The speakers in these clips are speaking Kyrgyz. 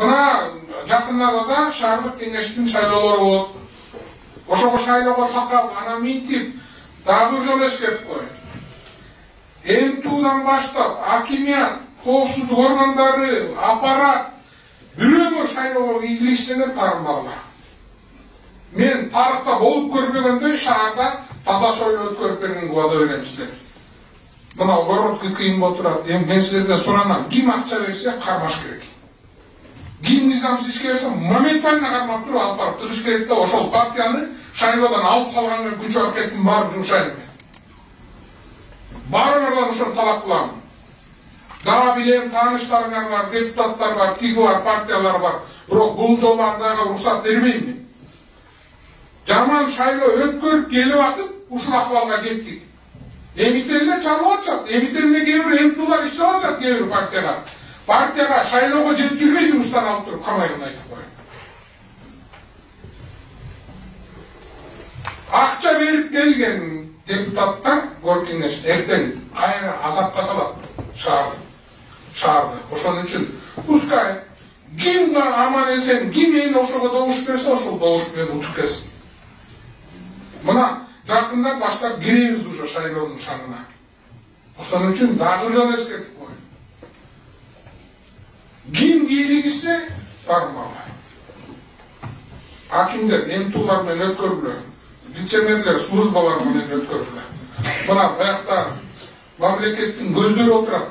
Мына жакында шаардык кеңештин шайлоолору болот. Ошого шайлоого такап, анан минтип, дагы бир жолу эскертип коеюн. МТУдан баштап, акимият, коопсуздук органдары, аппарат бирөө шайлоого киришсеңер тарынбагыла. Мен тарыхта болуп көрбөгөндөй шаарда таза шайлоо өткөрүп бергенге убада берем сиздерге. Мына городко кыйын болуп турат. Мен силерден суранам, ким акча берсе кармаш керек. Ким низамсыз ишке берсе моментально кармап туруп алып барып тыгыш керек да ошол партияны шайлоодон алып салганга күч аракеттин баарын жумшайм мен. Баарыңардан ошону талап кылам. Дагы билем, тааныштарыңар бар, депутаттар бар, тиги бар, партиялар бар. Бирок бул жолу андайга уруксат бербейм мен. Жаман шайлоо өткөрүп келип атып, ушул акыбалга жеттик. Эмителде чалып атышат, эмителде кээ бир МТУлар иштеп атышат кээ бир партияга шайлоого жеткирбей жумуштан алып туруп камайгын айтып коюм. Акча берип келген депутаттар город кеңеш эртең кайра азапка салат шаарды. Ошон үчүн пускай ким аман эсен, ким эл ошого добуш берсе, ошол добуш менен утуп келсин. Мына жакында баштап киребиз уже шайлоонун шаңына. Ошон үчүн дагы бир жолу эскертип коеюн. Ким кийлигисе тармагы. Акимдер МТУлар менен өткөрүлө. Вице-мэрлер службалар менен өткөрүлө. Мына буякта мамлекеттин көздөрү отурат.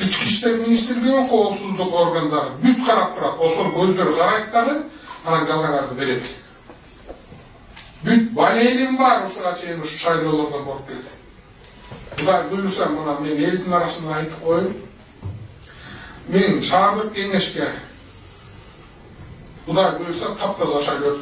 Ички иштер министрлиги, коопсуздук органдары бүт карап турат. Ошол көздөр карайт дагы, анан жазаңарды берет. Бүт балелим бар ушуга чейин ушу шайлоолордон болуп келди. Кудай буйруса, мына мен элдин арасында айтып коеюн. Мен шаардык кеңешке Кудай буйруса таптаза шайлоо